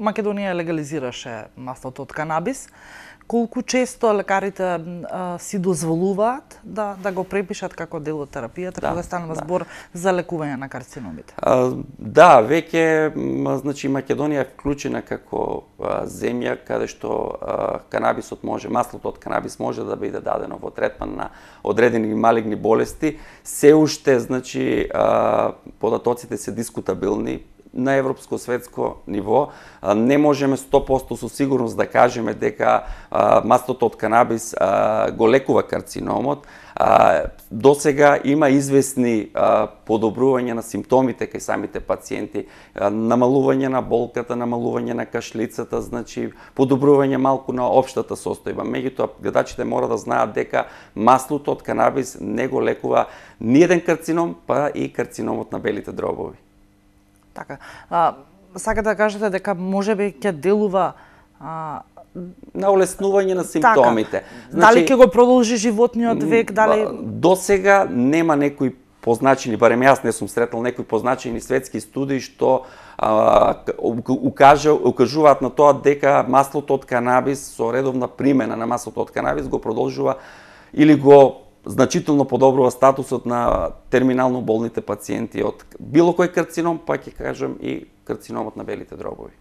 Македонија легализираше маслото од канабис. Колку често лекарите си дозволуваат да го препишат како дел од терапијата кога станува збор за лекување на карциномите? Да, веќе значи Македонија е вклучена како земја каде што канабисот може, маслото од канабис може да биде дадено во третман на одредени малигни болести. Се уште значи податоците се дискутабилни на европско светско ниво. Не можеме 100% со сигурност да кажеме дека маслото од канабис го лекува карциномот. До сега има известни подобрување на симптомите кај самите пациенти, намалување на болката, намалување на кашлицата, значи подобрување малку на општата состојба. Меѓутоа, гледачите мора да знаат дека маслото од канабис не го лекува ниеден карцином, па и карциномот на белите дробови. Така. Сакате да кажете дека можеби ќе делува на олеснување на симптомите. Така. Дали ќе го продолжи животниот век, дали до сега нема некои позначени, барем јас не сум сретнал некои позначени светски студии што укажуваат на тоа дека маслото од канабис со редовна примена на маслото од канабис го продолжува или го значително подобрува статусот на терминално болните пациенти од било кој карцином, па ќе кажам и карциномот на белите дробови.